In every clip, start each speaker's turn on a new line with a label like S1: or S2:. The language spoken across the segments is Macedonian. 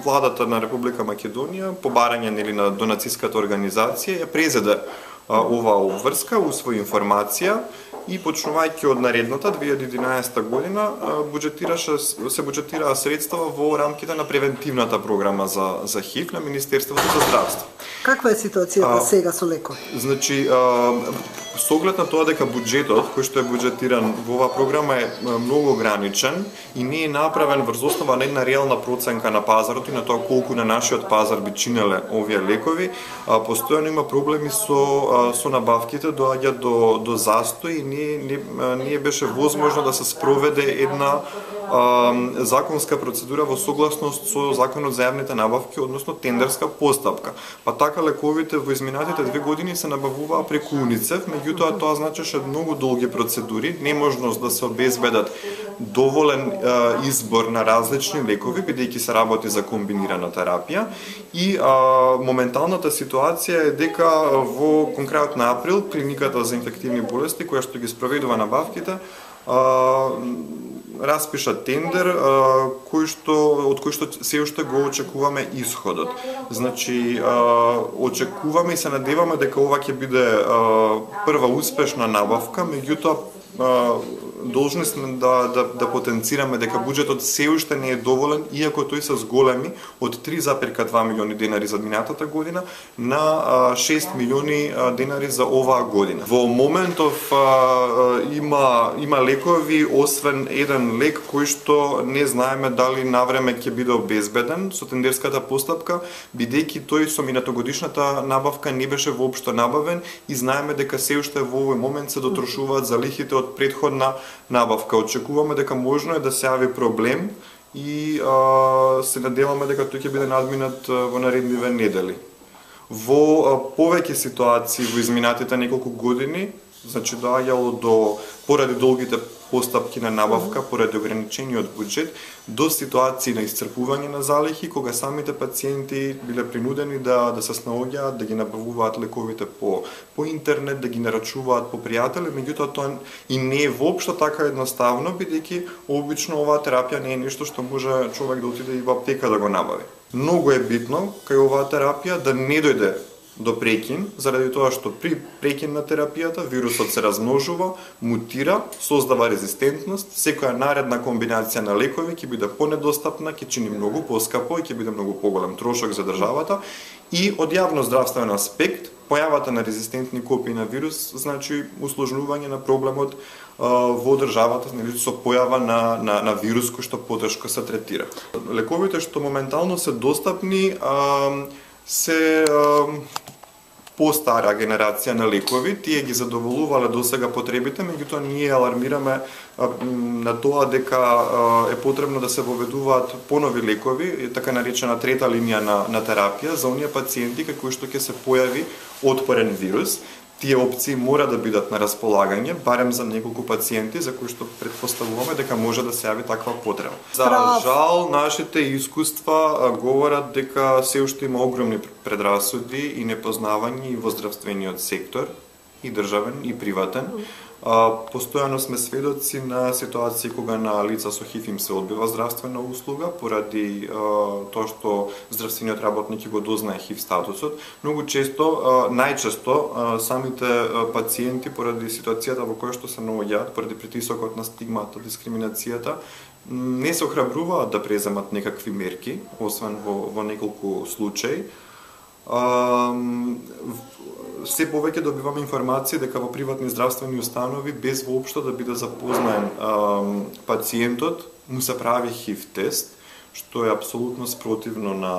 S1: владата на Република Македонија, по барање на донациската организација, ја презеде оваа обврска, усвои информација и почнувајќи од наредната 2011 година се буџетираа средства во рамките на превентивната програма за ХИВ на Министерството за здравство.
S2: Каква е ситуацијата сега со лекови?
S1: Значи, со оглед на тоа дека буџетот кој што е буџетиран во оваа програма е многу ограничен и не е направен врз основа на една реална проценка на пазарот и на тоа колку на нашиот пазар би чинеле овие лекови, постојано има проблеми со набавките, доаѓа до застој и не беше возможно да се спроведе една законска процедура во согласност со Законот за јавните набавки, односно тендерска постапка. Па така лековите во изминатите 2 години се набавуваа преку УНИЦЕФ, меѓутоа тоа значеше многу долги процедури, неможност да се обезбедат доволен избор на различни лекови, бидејќи се работи за комбинирана терапија и моменталната ситуација е дека во крајот на април клиниката за инфективни болести која што ги спроведува набавките распиша тендер од кој што се уште го очекуваме исходот. Значи, очекуваме и се надеваме дека ова ќе биде прва успешна набавка, меѓутоа должни сме да потенцираме дека буџетот се уште не е доволен, иако тој се зголеми од 3,2 милиони денари за минатата година на 6 милиони денари за оваа година. Во моментов има лекови, освен еден лек кој што не знаеме дали навреме ќе биде обезбеден со тендерската постапка, бидејќи тој со минатогодишната набавка не беше воопшто набавен и знаеме дека се уште во овој момент се дотрошуваат залихите од претходна набавка. Очекуваме дека можно е да се јави проблем и се надеваме дека тој ќе биде надминат во наредниве недели. Во повеќе ситуации во изминатите неколку години, значи доаѓало поради долгите постапки на набавка, поради ограничениот буџет, до ситуации на исцрпување на залихи, кога самите пациенти биле принудени да се снаоѓаат, да ги набавуваат лековите по интернет, да ги нарачуваат по пријатели, меѓутоа тоа и не е воопшто така едноставно, бидејќи обично оваа терапија не е нешто што може човек да отиде и во аптека да го набави. Многу е битно кај оваа терапија да не дојде до прекин, заради тоа што при прекин на терапијата вирусот се размножува, мутира, создава резистентност, секоја наредна комбинација на лекови ќе биде понедостапна, ќе чини многу поскапо и ќе биде многу поголем трошок за државата и од јавно-здравствен аспект појавата на резистентни копии на вирус значи усложнување на проблемот во државата со појава на вирус кој што потешко се третира. Лековите што моментално се достапни се постара генерација на лекови, тие ги задоволувале досега потребите, меѓутоа ние алармираме на тоа дека е потребно да се воведуваат понови лекови, така наречена трета линија на терапија за оние пациенти кои што ќе се појави отпорен вирус. Тие опции мора да бидат на располагање, барем за неколку пациенти за кои што претпоставуваме дека може да се јави таква потреба. За жал, нашите искуства говорат дека се уште има огромни предрасуди и непознавање и во здравствениот сектор, и државен, и приватен. Постојано сме сведоци на ситуации кога на лица со ХИВ им се одбива здравствена услуга поради тоа што здравствениот работник го дознае ХИВ статусот. Многу често, најчесто, самите пациенти поради ситуацијата во која што се наоѓаат, поради притисокот на стигмата, дискриминацијата, не се охрабруваат да преземат некакви мерки, освен во неколку случаи. Се повеќе добиваме информација дека во приватни здравствени установи без воопшто да биде запознаен пациентот, му се прави ХИВ тест, што е апсолутно спротивно на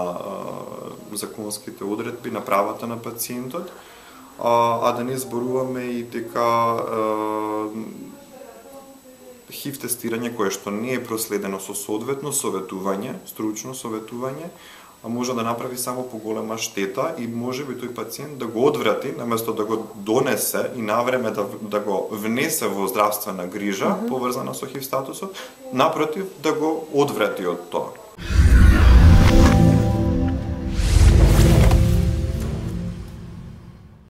S1: законските одредби, на правата на пациентот, а да не зборуваме и дека ХИВ тестирање кое што не е проследено со соодветно советување, стручно советување, може да направи само поголема штета и може би тој пациент да го одврати, наместо да го донесе и навреме да го внесе во здравствена грижа поврзана со ХИВ статусот, напротив да го одврати од тоа.